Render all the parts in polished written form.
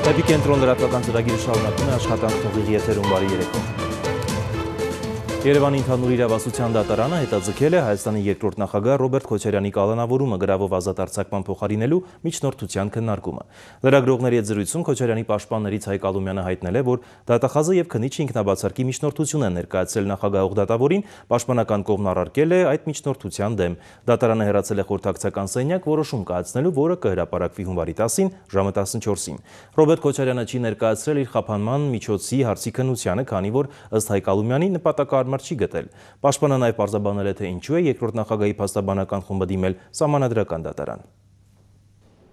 Էպիկենտրոն լրատվական ծրագիրը շարունակում է աշխատանքն ուղիղ եթերում բարի երեկո։ Երևանի ընդհանուր իրավասության դատարանը հետաձգել է Հայաստանի երկրորդ նախագահ Ռոբերտ Քոչարյանի կալանավորումը գրավով ազատ արձակման փոխարինելու միջնորդության քննարկումը։ Լրագրողների հետ զրույցում Քոչարյանի պաշտպաններից Հայկ Ալումյանը հայտնել է, որ դատախազը եւ քննիչը ինքնաբացարկի միջնորդություն են ներկայացրել նախագահող դատավորին, պաշտպանական կողմն առարկել է այդ միջնորդության դեմ։ Դատարանը հեռացել է խորհրդակցական սենյակ որոշում կայացնելու, որը կհրապարակվի հունվարի 10-ին ժամը 14-ին։ Ռոբերտ Քոչարյանը չի ներկայացրել իր խափանման միջոցի հարցի քննությանը, քանի որ ըստ Հայկ Ալումյանի նպատակարար չի գտել։ Պաշտպանը նաև պարզաբանել է, թե ինչու է երկրորդ նախագահի փաստաբանական խումբը դիմել սահմանադրական դատարան։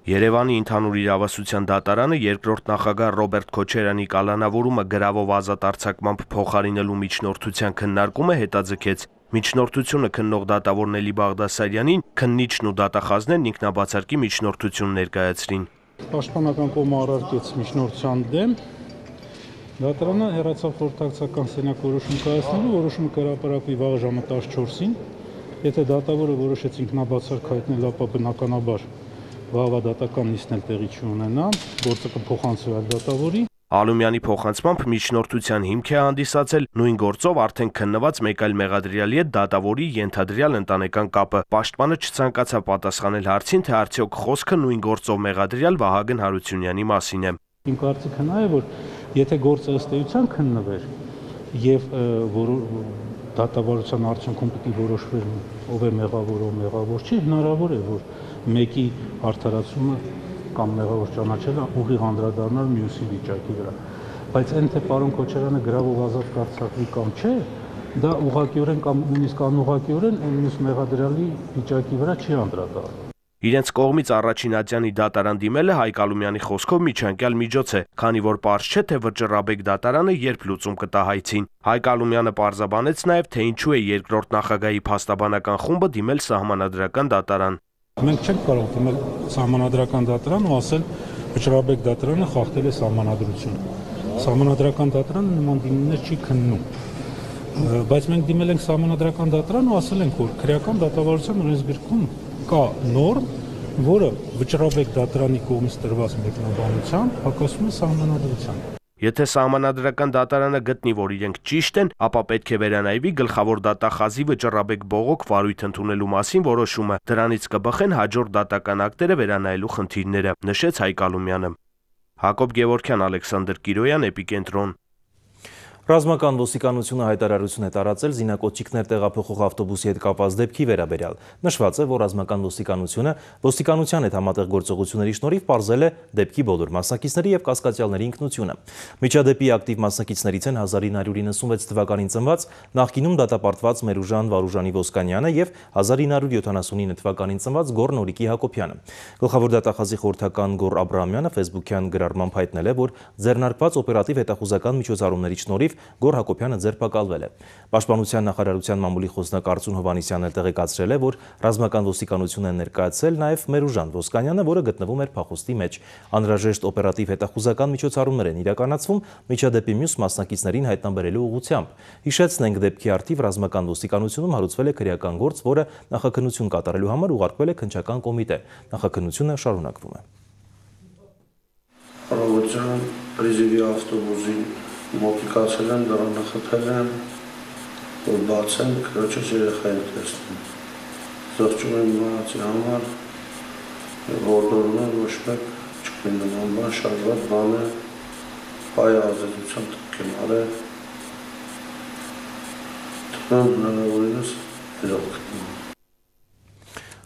Երևանի ընդհանուր իրավասության դատարանը երկրորդ նախագահ Ռոբերտ Քոչարյանի կալանավորումը գրավով ազատ արձակմամբ փոխարինելու միջնորդության քննարկումը հետաձգեց։ Միջնորդությունը քննող դատավոր Նելի Բաղդասարյանին քննիչն ու դատախազներն ինքնաբացարկի միջնորդություն ներկայացրին։ Պաշտպանական կողմը առարկեց միջնորդության դեմ, դատարանը հեռացավ խորհրդակցական սենյակ որոշում կայացնելու, որոշումը կհրապարակվի վաղ ժամը 14-ին։ Եթե դատավորը որոշեց ինքնաբացարկ հայտնել, ապա բնականաբար վաղվա դատական նիստն էլ տեղի չունենա, գործը կփոխանցվի այլ դատավորի։ Ալումյանի փոխանցմամբ միջնորդության հիմք է հանդիսացել նույն գործով արդեն քննված մեկ այլ մեղադրյալի հետ դատավորի ենթադրյալ ընտանեկան կապը։ Պաշտպանը չցանկացավ պատասխանել հարցին, թե արդյոք խոսքը նույն գործով մեղադրյալ Վահագն Հարությունյանի մասին է։ Իմ կարծիքը նա է, որ եթե գործը ըստ էության քննվեր եւ դատավարության արդյունքում պիտի որոշվեր ով է մեղավոր, ով մեղավոր չի, հնարավոր է, որ մեկի արդարացումը կամ մեղավոր ճանաչելը ուղիղ անդրադառնալ մյուսի վիճակի վրա։ Բայց այն թե պարոն Քոչարյանը գրավով ազատ կարձակվի կամ չէ, դա ուղղակիորեն կամ նույնիսկ անուղղակիորեն մյուս մեղադրյալի վիճակի վրա չի անդրադառնում։ Իրենց կողմից առաջին ատյանի դատարան դիմելը Հայկ Ալումյանի խոսքով միջանկյալ միջոց է, քանի որ պարզ չէ, թե վճռաբեկ դատարանը երբ լուծում կտա հայցին։ Հայկ Ալումյանը պարզաբանեց նաև, թե ինչու է երկրորդ նախագահի փաստաբանական խումբը դիմել սահմանադրական դատարան։ Մենք չենք կարող դիմել սահմանադրական դատարան ու ասել վճռաբեկ դատարանը խախտել է սահմանադրությունը։ Սահմանադրական դատարանը նման դիմումներ չի քննում։ Բայց մենք դիմել ենք սահմանադրական դատարան ու ասել ենք, որ քրեական դատավարության օրենսգրքում կա նորմ, որը վճռաբեկ դատարանի կողմից տրված մեկնաբանությամբ հակասում է սահմանադրության։ Եթե սահմանադրական դատարանը գտնի, որ իրենք ճիշտ են, ապա պետք է վերանայվի գլխավոր դատախազի վճռաբեկ բողոք վարույթ ընդունելու մասին որոշումը։ Դրանից կբխեն հաջորդ դատական ակտերը վերանայելու խնդիրները, նշեց Հայկ Ալումյանը։ Հակոբ Գևորգյան, Ալեքսանդր Կիրոյան, Էպիկենտրոն։ Ռազմական ոստիկանությունը հայտարարություն է տարածել զինակոծիկներ տեղափոխող ավտոբուսի հետ կապված դեպքի վերաբերյալ։ Նշված է, որ ռազմական ոստիկանությունը ոստիկանության հետ համատեղ գործողությունների շնորհիվ պարզել է դեպքի բոլոր մասնակիցների եւ կասկածյալների ինքնությունը։ Միջադեպի ակտիվ մասնակիցներից են 1996 թվականին ծնված նախկինում դատապարտված Մերուժան Վարուժանի Ոսկանյանը եւ 1979 թվականին ծնված Գոռ Նորիկի Հակոբյանը։ Գլխավոր դատախազի խորհրդական Գոռ Աբրահամյանը Facebook-յան գրառմամբ հայտնել է, որ ձեռնարկված օպերատիվ հետախուզական միջոցառումների շնորհիվ Գոռ Հակոբյանը ձերբակալվել է։ Պաշտպանության նախարարության մամուլի խոսնակ Արծուն Հովհաննիսյանն տեղեկացրել է, որ ռազմական ոստիկանությունը ներկայացել նաև Մերուժան Ոսկանյանը, որը գտնվում էր փախուստի մեջ։ Անհրաժեշտ օպերատիվ հետախուզական միջոցառումներ են իրականացվում միջադեպի մյուս մասնակիցներին հայտնաբերելու ուղղությամբ։ Հիշեցնենք, դեպքի առթիվ ռազմական ոստիկանությունում հարուցվել է քրեական գործ, որը նախաքննություն կատարելու համար ուղարկվել է քննչական կոմիտե։ Նախաքննությունը շարունակվում է։ Առավոտյան պրիզիվի ավտոբուսի մոտիկացել եմ, դրան նախատել եմ, որ բացեմ, քրոջս երեխային տեսնում։ Զղջում եմ մնացի համար, որդորում եմ, ոչ մեկ չկին նման բան, շարժված բան է, պայ ազդեցության տք եմ արել, թվում բնավորինս իրոք գտնում։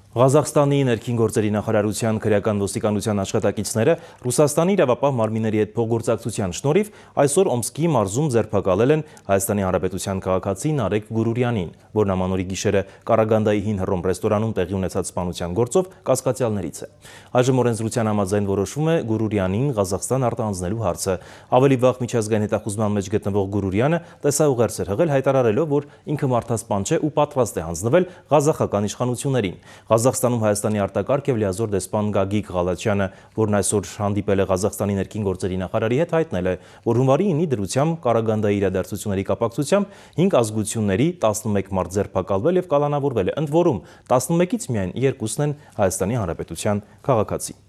Ղազախստանի ներքին գործերի նախարարության քրեական ոստիկանության աշխատակիցները Ռուսաստանի իրավապահ մարմինների հետ փոխգործակցության շնորհիվ այսօր Օմսկի մարզում ձերբակալել են Հայաստանի Հանրապետության քաղաքացի Նարեկ Գուրուրյանին, որն ամանորի գիշերը Կարագանդայի հին Հռոմ ռեստորանում տեղի ունեցած սպանության գործով կասկածյալներից է։ Այժմ օրենսդրության համաձայն որոշվում է Գուրուրյանին Ղազախստան արտահանձնելու հարցը։ Ավելի վաղ միջազգային հետախուզման մեջ գտնվող Գուրուրյանը տեսաուղերձ էր հղել, հայտարարելով, որ ինքը մարդասպան չէ ու պատրաստ է հանձնվել ղազախական իշխանություններին։ Ղազախստանում Հայաստանի արտակարգ եւ լիազոր դեսպան Գագիկ Ղալաչյանը, որն այսօր հանդիպել է Ղազախստանի ներքին գործերի նախարարի հետ, հայտնել է, որ հունվարի 9-ի դրությամբ Կարագանդայի իրադարձությունների կապակցությամբ 5 ազգությունների 11 մարդ ձերբակալվել եւ կալանավորվել է, ընդ որում 11-ից միայն 2-ն են Հայաստանի Հանրապետության քաղաքացի։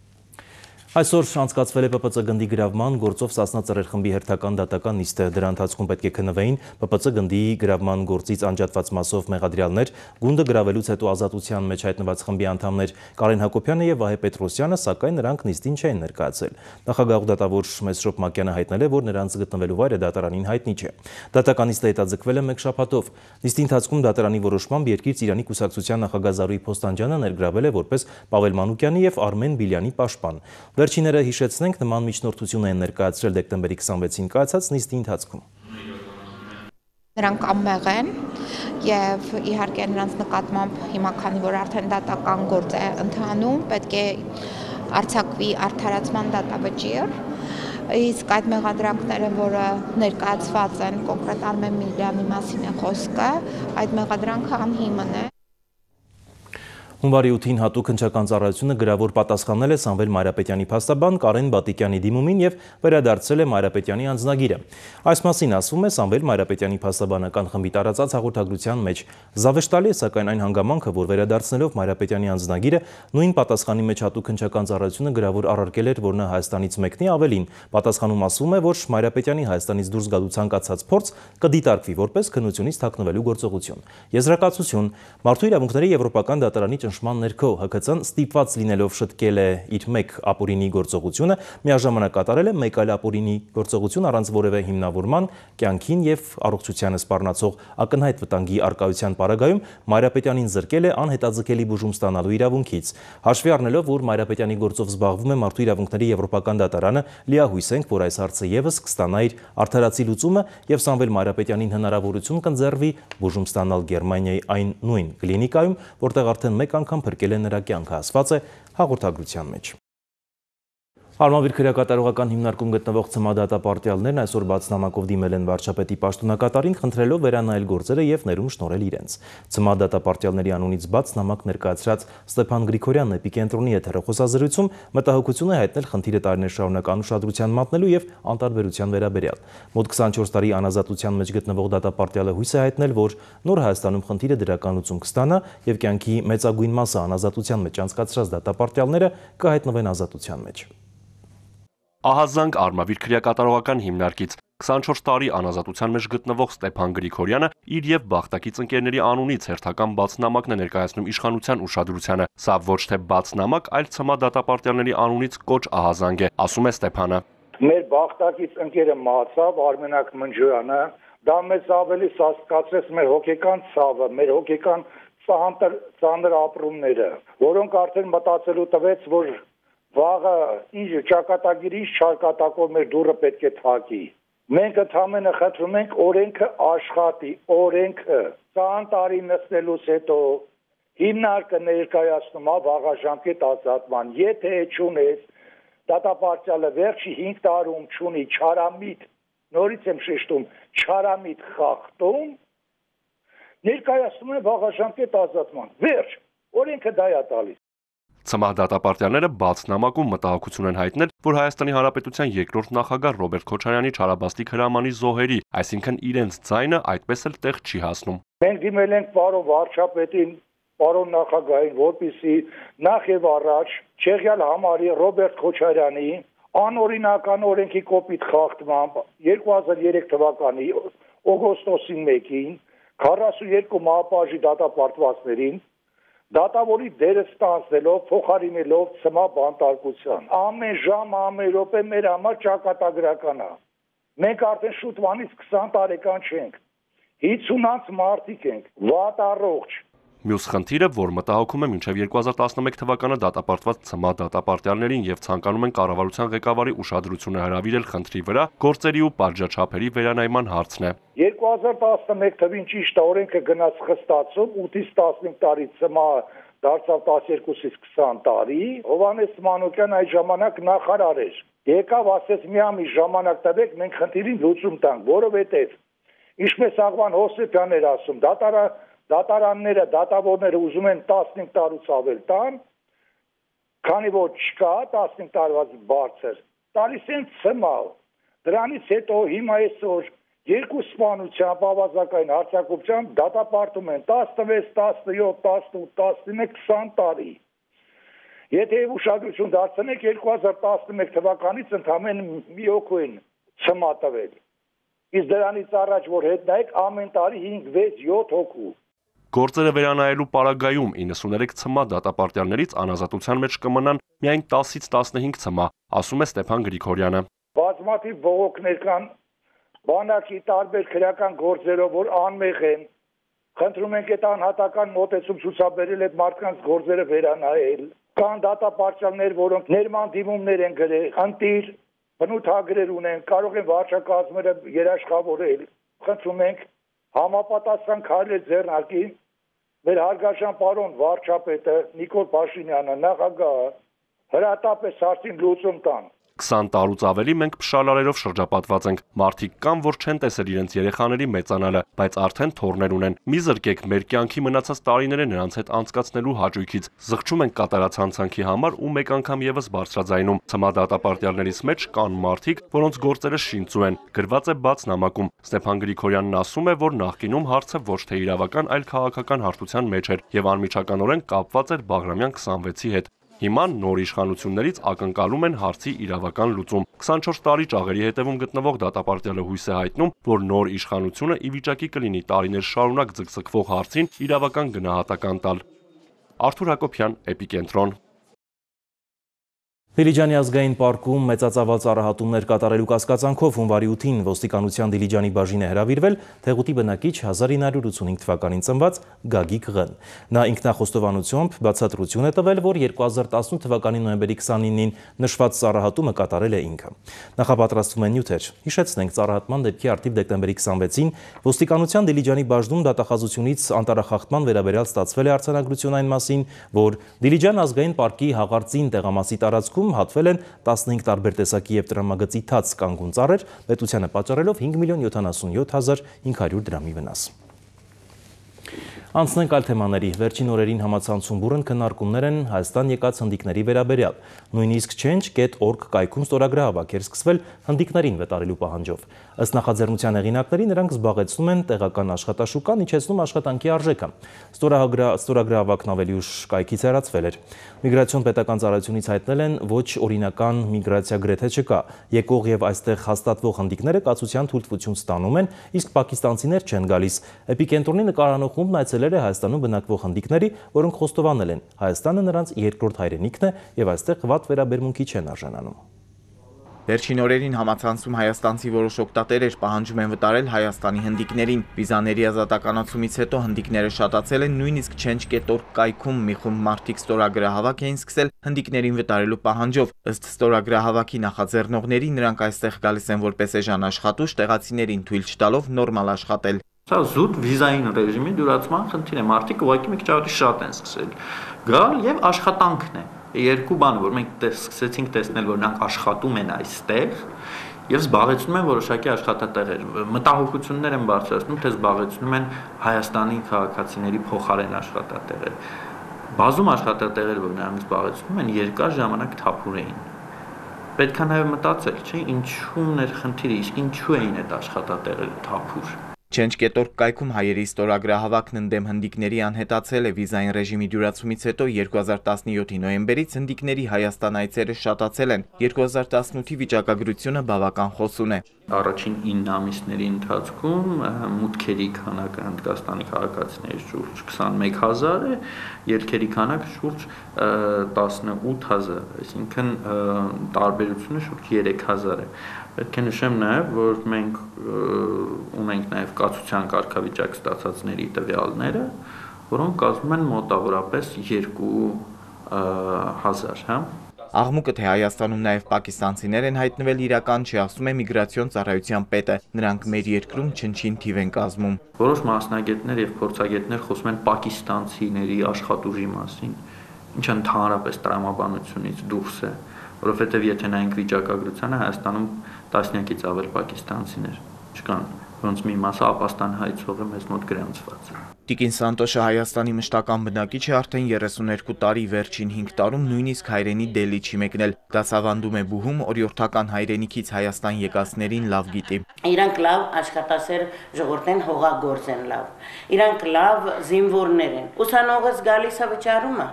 Այսօր անցկացվել է ՊՊՑ գնդի գրավման գործով Սասնա ծռեր խմբի հերթական դատական նիստը։ Դրա ընթացքում պետք է քննվեին ՊՊՑ գնդի գրավման գործից անջատված մասով մեղադրյալներ, գունդը գրավելուց հետո ազատության մեջ հայտնված խմբի անդամներ Կարեն Հակոբյանը եւ Վահե Պետրոսյանը, սակայն նրանք նիստին չեն ներկայացել։ Նախագահ դատավոր Մեսրոպ Մակյանը հայտնել է, որ նրանց գտնվելու վայրը դատարանին հայտնի չէ։ Դատական նիստը հետաձգվել է մեկ շաբաթով։ Նիստի ընթացքում դատարանի որոշմամբ Երկիր Ծիրանի կուսակցության նախագահ Զարուհի Փոստանջյանը ներգրավել է որպես Պավել Մանուկյանի եւ Արմեն Բիլյանի պաշտպան։ Վերջինները հիշեցնենք նման միջնորդություն են ներկայացրել դեկտեմբերի 26-ին կայացած նիստի ընթացքում։ Նրանք անմեղ են եւ իհարկե նրանց նկատմամբ հիմա քանի որ արդեն դատական գործ է ընթանում, պետք է արձակվի արդարացման դատավճիռ, իսկ այդ մեղադրանքները, որը ներկայացված են կոնկրետ Արմեն Բիլյանի մասին է խոսքը, այդ մեղադրանքը անհիմն է։ Հունվարի 8-ին հատուկ հնչական ծառայությունը գրավոր պատասխանել է Սամվել Mayրապետյանի փաստաբան Կարեն Բատիկյանի դիմումին եւ վերադարձրել է Mayրապետյանի անձնագիրը։ Այս մասին ասվում է Սամվել Mayրապետյանի փաստաբանական խմբի տարածած հաղորդագրության մեջ։ Զավեշտալի է սակայն այն հանգամանքը, որ վերադարձնելով Mayրապետյանի անձնագիրը նույն պատասխանի մեջ հատուկ հնչական ծառայությունը գրավոր առարկել էր, որ նա Հայաստանից մեկնի, ավելին պատասխանում ասվում է, որ Mayրապետյանի Հայաստանից դուրս գալու ցանկացած փորձ կդիտարկվի որպես քննությունից թաքնվելու գործողություն։ Եզրակացություն. Մարդու իրավունքների եվրոպական դատարանի ճնշման ներքո ՀՔՑ-ն ստիպված լինելով շտկել է իր մեկ ապօրինի գործողությունը, միաժամանակ կատարել է մեկ այլ ապօրինի գործողություն առանց որևէ հիմնավորման, կյանքին եւ առողջությանը սպառնացող ակնհայտ վտանգի առկայության պարագայում Mayրապետյանին զրկել է անհետաձգելի բուժում ստանալու իրավունքից։ Հաշվի առնելով, որ Mayրապետյանի գործով զբաղվում է Մարդու իրավունքների եվրոպական դատարանը, լիահույս ենք, որ այս հարցը եւս կստանա իր արդարացի լուծումը եւ Սամվել Mayրապետյանին հնարավորություն կընձեռվի բուժում ստանալ Գերմանիայի այն նույն կլինիկայում, որտեղ արդեն մեկ անգամ փրկել է նրա կյանքը, ասված է հաղորդագրության մեջ։ Արմավիր քրեակատարողական հիմնարկում գտնվող ՑՄԱ դատապարտյալներն այսօր բաց նամակով դիմել են վարչապետի պաշտոնակատարին, խնդրելով վերանայել գործերը եւ ներում շնորհել իրենց։ ՑՄԱ դատապարտյալների անունից բաց նամակ ներկայացրած Ստեփան Գրիգորյանն Էպիկենտրոնի եթերախոսազրույցում մտահոգություն է հայտնել խնդիրը տարիներ շարունակ անուշադրության մատնելու եւ անտարբերության վերաբերյալ։ Մոտ 24 տարի անազատության մեջ գտնվող դատապարտյալը հույս է հայտնել, որ նոր Հայաստանում խնդիրը դրական լուծում կստանա եւ կյանքի մեծագույն մասը անազատության մեջ անցկացրած դատապարտյալները կհայտնվեն ազատության մեջ։ Ահազանգ Արմավիր քրեակատարողական հիմնարկից 24 տարի անազատության մեջ գտնվող Ստեփան Գրիգորյանը իր եւ բախտակից ընկերների անունից հերթական բաց նամակն է ներկայացնում իշխանության ուշադրությանը։ Սա ոչ թե բաց նամակ, այլ ՑՄԱ դատապարտյալների անունից կոչ ահազանգ է, ասում է Ստեփանը։ Մեր բախտակից ընկերը մահացավ Արմենակ Մնջոյանը, դա մեզ ավելի սասկացրեց մեր հոգեկան ցավը, մեր հոգեկան ծանր ապրումները, որոնք արդեն մտածելու տվեց, որ վաղը ինչ ճակատագիր, ինչ չարկատակով մեր դուռը պետք է թակի։ Մենք ընդհանրապես խնդրում ենք օրենքը աշխատի, օրենքը 20 տարի նստելուց հետո հիմնարկը ներկայացնում է վաղաժամկետ ազատման։ Եթե չունես, դատապարտյալը վերջի 5 տարում չունի չարամիտ, նորից եմ շեշտում, չարամիտ խախտում, ներկայացնում է վաղաժամկետ ազատման։ Վերջ, օրենքը դա է տալիս։ ՑՄԱ դատապարտյալները բաց նամակում մտահոգություն են հայտնել, որ Հայաստանի Հանրապետության երկրորդ նախագահ Ռոբերտ Քոչարյանի չարաբաստիկ հրամանի զոհերի, այսինքն իրենց ձայնը այդպես էլ տեղ չի հասնում։ Մենք դիմել ենք պարոն վարչապետին, պարոն նախագահին, որպեսզի նախ եւ առաջ Չեղյալ համարի Ռոբերտ Քոչարյանի անօրինական օրենքի կոպիտ խախտմամբ 2003 թվականի օգոստոսի 1-ին 42 մահապարժի դատապարտվածներին դատավորի դերը ստանձնելով, փոխարինելով ՑՄԱ բանտարկության։ Ամեն ժամ, ամեն րոպե մեր համար ճակատագրական է։ Մենք արդեն շուտվանից 20 տարեկան չենք։ 50-անց մարդիկ ենք, վատ առողջ։ Մյուս խնդիրը, որ մտահոգում է մինչև 2011 թվականը դատապարտված ՑՄԱ դատապարտյալներին եւ ցանկանում են կառավարության ղեկավարի ուշադրությունը հրավիրել խնդրի վրա, գործերի ու պատժաչափերի վերանայման հարցն է։ 2011 թվին ճիշտ է օրենքը գնաց խստացում, 8-ից 15 տարի ՑՄԱ դարձավ 12-ից 20 տարի։ Հովհաննես Մանուկյան այդ ժամանակ նախարար էր։ Եկավ ասեց մի ամիս ժամանակ տվեք, մենք խնդիրին լուծում տանք, որովհետեւ ինչպես Աղվան Հովսեփյանն էր ասում, դատարանները, դատավորները ուզում են 15 տարուց ավել տան, քանի որ չկա 15 տարվա բարձր, տալիս են ՑՄԱ։ Դրանից հետո հիմա այսօր երկու սպանությամբ ավազակային հարձակողությամբ դատապարտում են 16, 17, 18, 19, 20 տարի։ Եթե ուշադրություն դարձնեք 2011 թվականից ընդամենը մի հոգու են ցմա տվել։ Իսկ դրանից առաջ որ հետ նայեք ամեն տարի 5-6-7 հոգու։ Գործերը վերանայելու պարագայում 93 ցմա դատապարտյալներից անազատության մեջ կմնան միայն 10-ից 15 ցմա, ասում է Ստեփան Գրիգորյանը։ Բազմաթիվ բողոքներ կան բանակի տարբեր քրեական գործերով, որ անմեղ են։ Խնդրում ենք այդ անհատական մոտեցում ցուցաբերել այդ մարդկանց գործերը վերանայել։ Կան դատապարտյալներ, որոնք ներման դիմումներ են գրել, ընտիր, բնութագրեր ունեն, կարող են վարչակազմերը երաշխավորել։ Խնդրում ենք համապատասխան քայլեր ձեռնարկի մեր հարգարժան պարոն վարչապետը Նիկոլ Փաշինյանը, նախագահը հրատապ հարցին լուծում տան։ 20 տարուց ավելի մենք փշալարերով շրջապատված ենք։ Մարդիկ կան, որ չեն տեսել իրենց երեխաների մեծանալը, բայց արդեն թոռներ ունեն։ Մի զրկեք մեր կյանքի մնացած տարիները նրանց հետ անցկացնելու հաճույքից։ Զղջում ենք կատարած հանցանքի համար ու մեկ անգամ եւս բարձրաձայնում։ Ցմա դատապարտյալներից մեջ կան մարդիկ, որոնց գործերը շինծու են։ Գրված է բաց նամակում։ Ստեփան Գրիգորյանն ասում է, որ նախկինում հարցը ոչ թե իրավական, այլ քաղաքական հարթության մեջ էր եւ անմիջականորեն կապված էր Բաղրամյան 26-ի հետ։ Հիմա նոր իշխանություններից ակնկալում են հարցի իրավական լուծում։ 24 տարի ճաղերի հետևում գտնվող դատապարտյալը հույս է հայտնում, որ նոր իշխանությունը ի վիճակի կլինի տարիներ շարունակ ձգձգվող հարցին իրավական գնահատական տալ։ Արթուր Հակոբյան, Էպիկենտրոն։ Դիլիջանի ազգային պարկում մեծածավալ ծառահատումներ կատարելու կասկածանքով հունվարի 8-ին ոստիկանության Դիլիջանի բաժին է հրավիրվել Թեղուտի բնակիչ 1985 թվականին ծնված Գագիկ Ղ-ն։ Նա ինքնախոստովանությամբ բացատրություն է տվել, որ 2018 թվականի նոյեմբերի 29-ին նշված ծառահատումը կատարել է ինքը։ Նախապատրաստվում են նյութեր։ Հիշեցնենք, ծառահատման դեպքի արդիվ դեկտեմբերի 26-ին ոստիկանության Դիլիջանի բաժնում դատախազությունից անտառախախտման վերաբերյալ ստացվել է արձանագրություն այն մասին, որ Դիլիջան ազգային պարկի հաղարծին տեղամասի տարածքում հատվել են 15 տարբեր տեսակի և տրամագծի թաց կանգուն ծառեր, պետությանը պատճառելով 5,077,500 դրամի վնաս։ Անցնենք այլ թեմաների։ Վերջին օրերին համացանցում բուռն քննարկումներ են Հայաստան եկած հնդիկների վերաբերյալ։ Նույնիսկ change.org կայքում ստորագրահավաք էր սկսվել հնդիկներին վտարելու պահանջով։ Ըստ նախաձեռնության հեղինակների նրանք զբաղեցնում են տեղական աշխատաշուկան, իջեցնում աշխատանքի արժեքը։ Ստորագրահավաքն ավելի ուշ կայքից հեռացվել էր։ Միգրացիոն պետական ծառայությունից հայտնել են, ոչ օրինական միգրացիա գրեթե չկա։ Եկող եւ այստեղ հաստատվող հնդիկները կացության թույլտվություն ստանում են, իսկ պակիստանցիներ չեն գալիս։ Էպիկենտրոնի նկարանող խումբն այցելել է Հայաստանում բնակվող հնդիկների, որոնք խոստովանել են, Հայաստանը նրանց երկրորդ հայրենիքն է եւ այստեղ վատ վերաբերմունքի չեն արժանանում։ Վերջին օրերին համացանցում հայաստանցի որոշ օգտատերեր պահանջում են վտարել Հայաստանի հնդիկներին։ Վիզաների ազատականացումից հետո հնդիկները շատացել են, նույնիսկ change.org կայքում մի խումբ մարդիկ ստորագրահավաք էին սկսել հնդիկներին վտարելու պահանջով։ Ըստ ստորագրահավաքի նախաձեռնողների, նրանք այստեղ գալիս են որպես էժան աշխատուժ, տեղացիներին թույլ չտալով նորմալ աշխատել։ Սա զուտ վիզային ռեժիմի դյուրացման խնդիր է։ Մարդիկ ուղղակի մի քիչ ավելի շատ են սկսել գալ եւ աշխատանքն է։ Երկու բան, որ մենք սկսեցինք տեսնել, որ նրանք աշխատում են այստեղ եւ զբաղեցնում են որոշակի աշխատատեղեր։ Մտահոգություններ են բարձրացնում, թե զբաղեցնում են Հայաստանի քաղաքացիների փոխարեն աշխատատեղեր։ Բազում աշխատատեղեր, որ նրանք զբաղեցնում են, երկար ժամանակ թափուր էին։ Պետք է նաեւ մտածել, չէ՞, ինչու՞մն էր խնդիրը, իսկ ինչու էին այդ աշխատատեղերը թափուր։ Change.org կայքում հայերի ստորագրահավաքն ընդդեմ հնդիկների անհետացել է վիզային ռեժիմի դյուրացումից հետո 2017-ի նոյեմբերից հնդիկների Հայաստան այցերը շատացել են։ 2018-ի վիճակագրությունը բավական խոսուն է։ Առաջին 9 ամիսների ընթացքում մուտքերի քանակը Հնդկաստանի քաղաքացիների շուրջ 21000 է, ելքերի քանակը շուրջ 18000, այսինքն տարբերությունը շուրջ 3000 է։ Պետք է նշեմ նաև, որ մենք ունենք նաև կացության կարգավիճակ ստացածների տվյալները, որոնք կազմում են մոտավորապես 2000, հա։ Աղմուկը, թե Հայաստանում նաև պակիստանցիներ են հայտնվել, իրական չի, ասում է միգրացիոն ծառայության պետը։ Նրանք մեր երկրում չնչին թիվ են կազմում։ Որոշ մասնագետներ եւ փորձագետներ խոսում են պակիստանցիների աշխատուժի մասին, ինչը ընդհանրապես տրամաբանությունից դուրս է, որովհետեւ եթե նայենք վիճակագրությանը, Հայաստանում տասնյակից ավել պակիստանցիներ չկան, որոնց մի մասը ապաստան հայցող է մեզ մոտ գրանցված։ Տիկին Սանտոշը Հայաստանի մշտական բնակիչ է արդեն 32 տարի, վերջին 5 տարում նույնիսկ հայրենի Դելի չի մեկնել։ Դասավանդում է բուհում, օրիորդական հայրենիքից Հայաստան եկածներին լավ գիտի։ Իրանք լավ աշխատասեր ժողովուրդ են, հողագործ են լավ։ Իրանք լավ զինվորներ են։ Ուսանողս գալիս է վճարում է,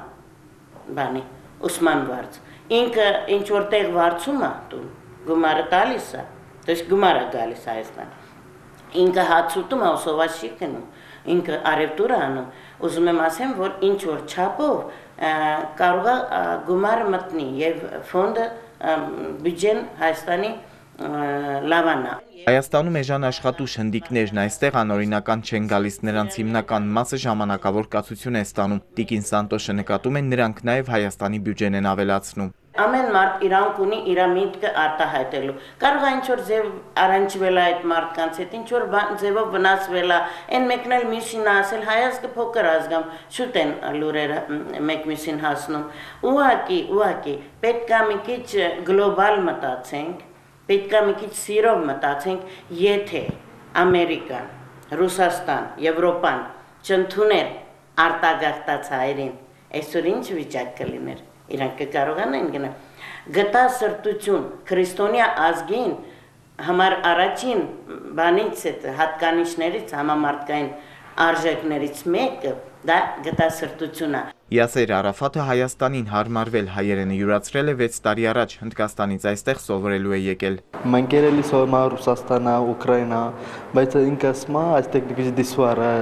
բանի, ուսման վարձ։ Ինքը ինչ որտեղ վարձում է տուն, գումարը տալիս է, դες գումարը գալիս Հայաստան։ Ինքը հացուտում է, ուսովաց չի գնում, ինքը արևտուր է անում, ուզում եմ ասեմ, որ ինչ որ չափով կարող է գումարը մտնի եւ ֆոնդը բյուջեն Հայաստանի լավանա։ Հայաստանում էժան աշխատուժ հնդիկներն այստեղ անօրինական չեն գալիս, նրանց հիմնական մասը ժամանակավոր կացություն է ստանում։ Տիկին Սանտոշը նկատում է, նրանք նաև Հայաստանի բյուջեն են ավելացնում։ Ամեն մարդ իրանք ունի իր միտքը արտահայտելու։ Կարող է ինչ-որ ձև առնչվել է այդ մարդկանց հետ, ինչ-որ ձևով վնասվել է, այն մեկն էլ մյուսին ասել, հայազգը փոքր ազգամ, շուտ են լուրերը մեկ մյուսին հասնում։ Ուղղակի, պետք է մի քիչ գլոբալ մտածենք, պետք է մի քիչ սիրով մտածենք, եթե Ամերիկան, Ռուսաստան, Եվրոպան չընդուներ արտագաղթած հայերին, այսօր ինչ վիճակ կլիներ։ Իրանք կարողանային գնա գտա սրտություն քրիստոնյա ազգին համար առաջին բանից հատկանիշներից համամարտկային արժեքներից մեկը դա գտա սրտությունն է։ Յասեր Արաֆաթը Հայաստանին հարմարվել հայերենը յուրացրել է 6 տարի առաջ, Հնդկաստանից այստեղ սովորելու է եկել։ Մենք երևի սովորում ենք Ռուսաստան, Ուկրաինա, բայց ինքը ասում է այստեղ դիգի դիսուար է։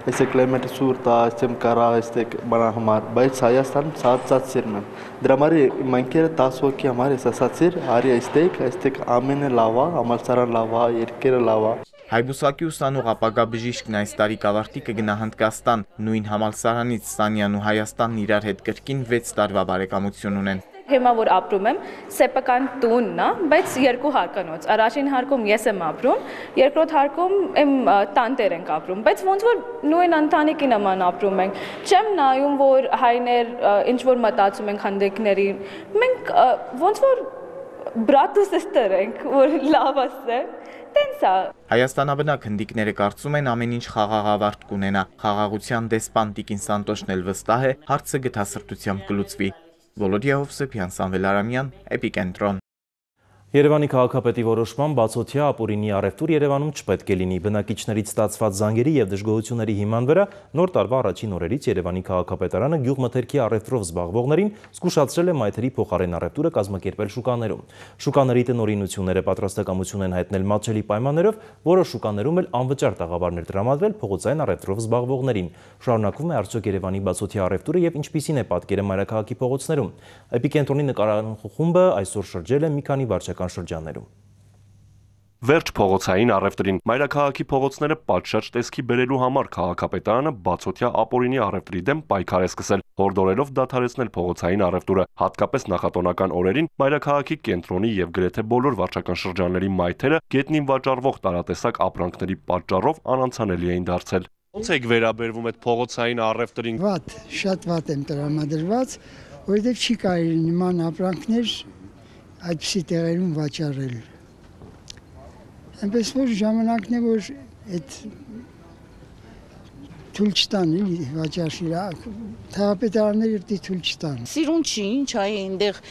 Este climate surta, este cara, este banahmar. Բայց Հայաստանում ցածացերն է։ Դրա համար մանկերը 10 հոգի համար է ասացիր, արի այստեղ ամենը լավ է, համալսարան լավ է, երկերը լավ է։ Հայբուսակի ուսանող ապագա բժիշկն այս տարի կավարտի կգնա Հնդկաստան, նույն համալսարանից Սանյան ու Հայաստանն իրար հետ կրկին 6 տարվա բարեկամություն ունեն։ Հիմա որ ապրում եմ, սեփական տունն է, բայց երկու հարկանոց։ Առաջին հարկում ես եմ ապրում, երկրորդ հարկում եմ տանտեր ենք ապրում, բայց ոնց որ նույն ընտանիքի նման ապրում ենք։ Չեմ նայում, որ հայներ ինչ որ մտածում են հնդիկների։ Մենք ոնց որ բրատ ու սեստեր ենք, որ լավ ասեմ։ Տենց է։ Հայաստանաբնակ հնդիկները կարծում են ամեն ինչ խաղաղավարտ կունենա։ Խաղաղության դեսպան Տիկին Սանտոշն էլ վստահ է, հարցը գթասրտությամբ կլուծվի։ Վոլոդիա Հովսեփյան, Սամվել Արամյան, Էպիկենտրոն։ Երևանի քաղաքապետի որոշման բացօթյա ապօրինի առևտուր Երևանում չպետք է լինի։ Բնակիչներից ստացված զանգերի եւ դժգոհությունների հիման վրա նոր տարվա առաջին օրերից Երևանի քաղաքապետարանը գյուղմթերքի առևտրով զբաղվողներին զգուշացրել է մայթերի փոխարեն առևտուրը կազմակերպել շուկաներում։ Շուկաների տնօրինությունները պատրաստակամություն են հայտնել մատչելի պայմաններով, որոշ շուկաներում էլ անվճար տաղավարներ տրամադրել փողոցային առևտրով զբաղվողներին։ Շարունակվում է արդյոք Երևանի բացօթյա առևտուրը եւ ինչպիսին է պատկերը մայրաքաղաքի փողոցներում։ Էպիկենտրոնի նկարախումբը այսօր շրջել է մի քանի վարչական շրջաններում։ Վերջ փողոցային առևտրին մայրաքաղաքի փողոցները պատշաճ տեսքի բերելու համար քաղաքապետարանը բացօթյա ապօրինի առևտրի դեմ պայքար է սկսել, հորդորելով դադարեցնել փողոցային առևտուրը, հատկապես նախատոնական օրերին մայրաքաղաքի կենտրոնի եւ գրեթե բոլոր վարչական շրջանների մայթերը գետնին վաճառվող տարատեսակ ապրանքների պատճառով անանցանելի էին դարձել։ Ոնց եք վերաբերվում այդ փողոցային առևտրին։ Վատ, շատ վատ եմ տրամադրված, որովհետև չի կարելի նման ապրանքներ այդպիսի տեղերում վաճառել։ Այնպես որ ժամանակն է, որ այդ թույլ չտան, վաճառի, թաղապետարանները թույլ չտան։ Սիրուն չի, ինչ այ այնտեղ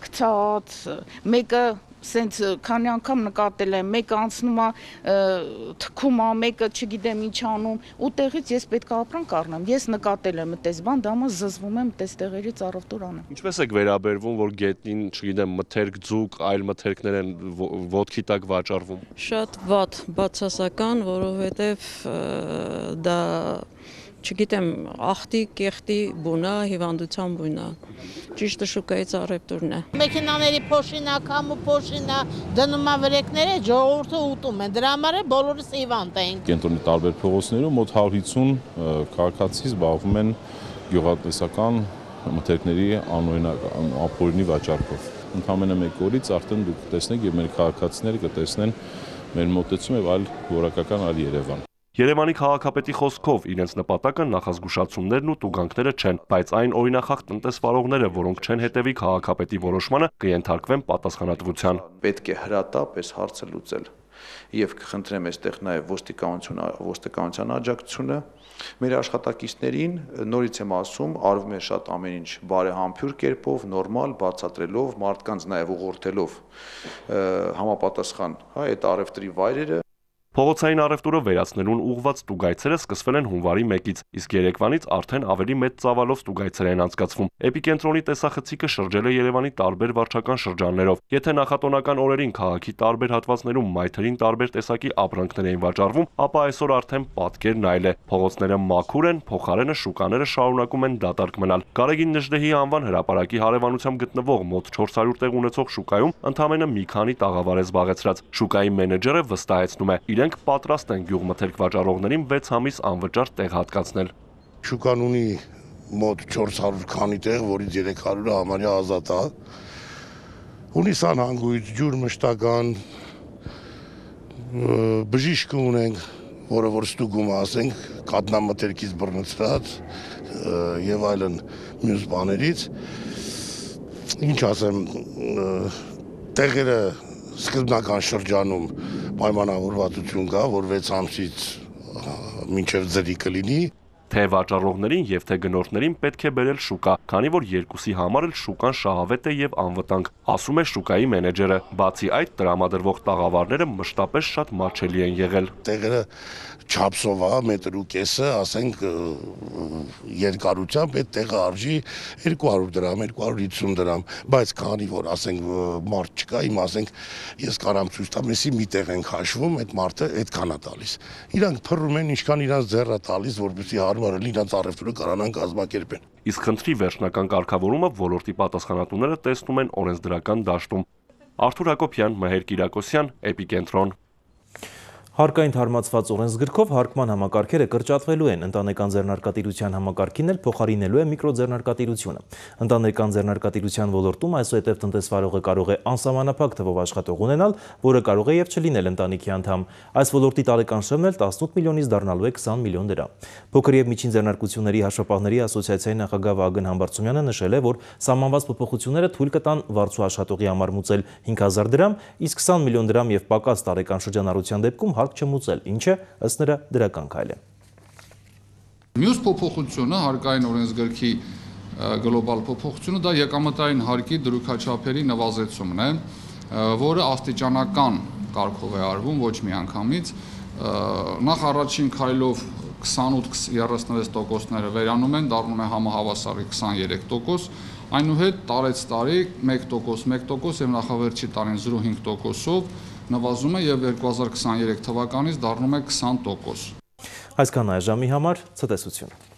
գցած, մեկը սենց քանի անգամ նկատել եմ, մեկը անցնում է թքում է, մեկը չգիտեմ ինչ անում, ու տեղից ես պետք է ապրանք առնեմ։ Ես նկատել եմ այդպես բան, դա մը զզվում եմ այդպես տեղերից առևտուր անեմ։ Ինչպես եք վերաբերվում, որ գետնին, չգիտեմ, մթերք, ձուկ, այլ մթերքներ են ոտքի տակ վաճառվում։ Շատ վատ, բացասական, որովհետև դա չգիտեմ, ախտի, կեղտի բունա, հիվանդության բունա։ Ճիշտը շուկայից առևտուրն է։ Մեքենաների փոշինա, քամու փոշինա, դնում է վրեկները, ժողովուրդը ուտում է։ Դրա համար բոլորս հիվանդ են։ Կենտրոնի տարբեր փողոցներում մոտ 150 քաղաքացի զբաղվում են գյուղատնտեսական մթերքների անօրինական ապօրինի վաճառքով։ Ընդամենը մեկ օրից արդեն դուք տեսնեք եւ մեր քաղաքացիները կտեսնեն մեր մոտեցում եւ այլ որակական այլ Երևան։ Երևանի քաղաքապետի խոսքով իրենց նպատակը նախազգուշացումներն ու տուգանքները չեն, բայց այն օրինախախտ տնտեսվարողները, որոնք չեն հետևի քաղաքապետի որոշմանը, կենթարկվեն պատասխանատվության։ Պետք է հրատապ այս հարցը լուծել եւ կխնդրեմ այստեղ նաեւ ոստիկանության աջակցությունը մեր աշխատակիցներին, նորից եմ ասում, արվում է շատ ամեն ինչ բարեհամբույր կերպով, նորմալ, բացատրելով, մարդկանց նաեւ ուղղորդելով համապատասխան, այդ առևտրի վայրերը Փողոցային առևտուրը վերացնելուն ուղղված ստուգայցերը սկսվել են հունվարի 1-ից, իսկ երեկվանից արդեն ավելի մեծ ծավալով ստուգայցեր են անցկացվում։ Էպիկենտրոնի տեսախցիկը շրջել է Երևանի տարբեր վարչական շրջաններով։ Եթե նախատոնական օրերին քաղաքի տարբեր հատվածներում մայթերին տարբեր տեսակի ապրանքներ էին վաճառվում, ապա այսօր արդեն պատկերն այլ է։ Փողոցները մաքուր են, փոխարենը շուկաները շարունակում են դատարկ մնալ։ Գարեգին Նժդեհի անվան հրապարակի հարևանությամբ գտնվող մոտ 400 տեղ ունեցող շուկայում ընդամենը մի քանի տաղավար է զբաղեցրած։ Շուկայի մենեջերը վստահեցնում է, իրենք պատրաստ են գյուղմթերք վաճառողներին 6 ամիս անվճար տեղ հատկացնել։ Շուկան ունի մոտ 400 քանի տեղ, որից 300-ը համարյա ազատ է։ Ունի սանհանգույց, ջուր մշտական, բժիշկ ունենք, որը որ ստուգում ասենք, կատնամթերքից բռնցրած եւ այլն մյուս բաներից։ Ինչ ասեմ, տեղերը սկզբնական շրջանում պայմանավորվածություն կա, որ 6 ամսից մինչև ձրի կլինի։ Թե վաճառողներին եւ թե գնորդներին պետք է բերել շուկա, քանի որ երկուսի համար էլ շուկան շահավետ է եւ անվտանգ, ասում է շուկայի մենեջերը։ Բացի այդ, տրամադրվող տաղավարները մշտապես շատ մատչելի են եղել։ Տեղերը չափսով է, մետր ու կեսը, ասենք երկարությամբ այդ տեղը արժի 200 դրամ, 250 դրամ, բայց քանի որ ասենք մարդ չկա, իմ ասենք ես կարամ ցույց տամ, էսի մի տեղ ենք հաշվում, այդ մարդը այդքան է տալիս։ Իրանք փռում են, ինչքան իրանք ձեռ է տալիս, որպեսզի հարմար լինի իրանք առևտուրը կարողանան կազմակերպեն։ Իսկ խնդրի վերջնական կարգավորումը ոլորտի պատասխանատուները տեսնում են օրենսդրական դաշտում։ Արթուր Հակոբյան, Մհեր Կիրակոսյան, Էպիկենտրոն։ Հարկային թարմացված օրենսգրքով հարկման համակարգերը կրճատվելու են, ընտանեկան ձեռնարկատիրության համակարգին էլ փոխարինելու է միկրոձեռնարկատիրությունը։ Ընտանեկան ձեռնարկատիրության ոլորտում այսուհետև տնտեսվարողը կարող է անսահմանափակ թվով աշխատող ունենալ, որը կարող է եւ չլինել ընտանիքի անդամ։ Այս ոլորտի տարեկան շեմն էլ 18 միլիոնից դառնալու է 20 միլիոն դրամ։ Փոքր եւ միջին ձեռնարկությունների հաշվապահների ասոցիացիայի նախագահ Վահագն Համբարձումյանը նշել է, որ սահմանված փոփոխությունները թույլ կտան վարձու աշխատողի համար մուծել 5000 դրամ, իսկ 20 միլիոն դրամ եւ պակաս տարեկան շրջանառության դեպքում չմուծել, ինչը ըստ նրա դրական քայլ է։ Մյուս փոփոխությունը հարկային օրենսգրքի գլոբալ փոփոխությունը դա եկամտային հարկի դրույքաչափերի նվազեցումն է, որը աստիճանական կարգով է արվում, ոչ միանգամից։ Նախ առաջին քայլով 28-36%-ները վերանում են, դառնում է համահավասարի 23%, այնուհետ տարեց տարի 1% եւ նախավերջի տարին 0.5%-ով նվազում է եւ 2023 թվականից դառնում է 20%։ Այսքան այժմի համար ցտեսություն։